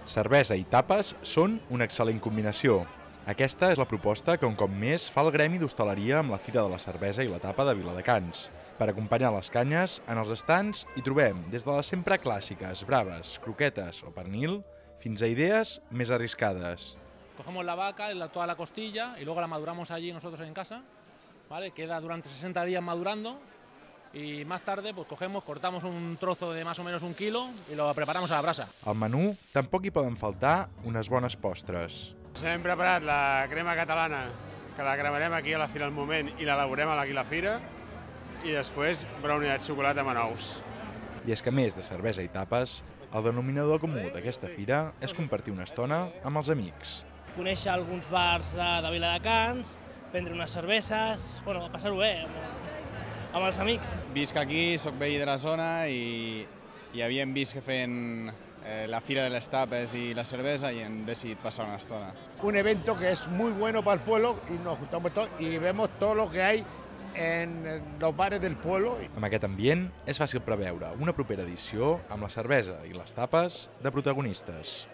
Cervesa i tapes són una excel·lent combinació. Aquesta és la proposta que un cop més fa el Gremi d'Hostaleria amb la Fira de la Cervesa i la Tapa de Viladecans. Per acompanyar les canyes, en els estands hi trobem des de les sempre clàssiques, braves, croquetes o pernil, fins a idees més arriscades. Cogemos la vaca, toda la costilla y luego la maduramos allí nosotros en casa, ¿vale? Queda durante 60 días madurando y más tarde pues cortamos un trozo de más o menos 1 quilo y lo preparamos a la brasa. Al menú tampoc hi poden faltar unes bones postres. Hem preparat la crema catalana, que la cremarem aquí a la Fira al Moment i l'elaborem aquí a la Fira, i després brownie de xocolata amb nous. I és que a més de cervesa i tapes, el denominador comú d'aquesta fira és compartir una estona amb els amics. Conèixer alguns bars de Viladecans, prendre unes cerveses, passar-ho bé amb els amics. Visc aquí, soc veí de la zona i havíem vist que feien la Fira de les Tapes y la cerveza y hem decidit pasar una estona. Un evento que es muy bueno para el pueblo y nos juntamos todos y vemos todo lo que hay en los bares del pueblo. Amb aquest ambient és fàcil preveure una propera edició amb la cervesa i les tapes de protagonistes.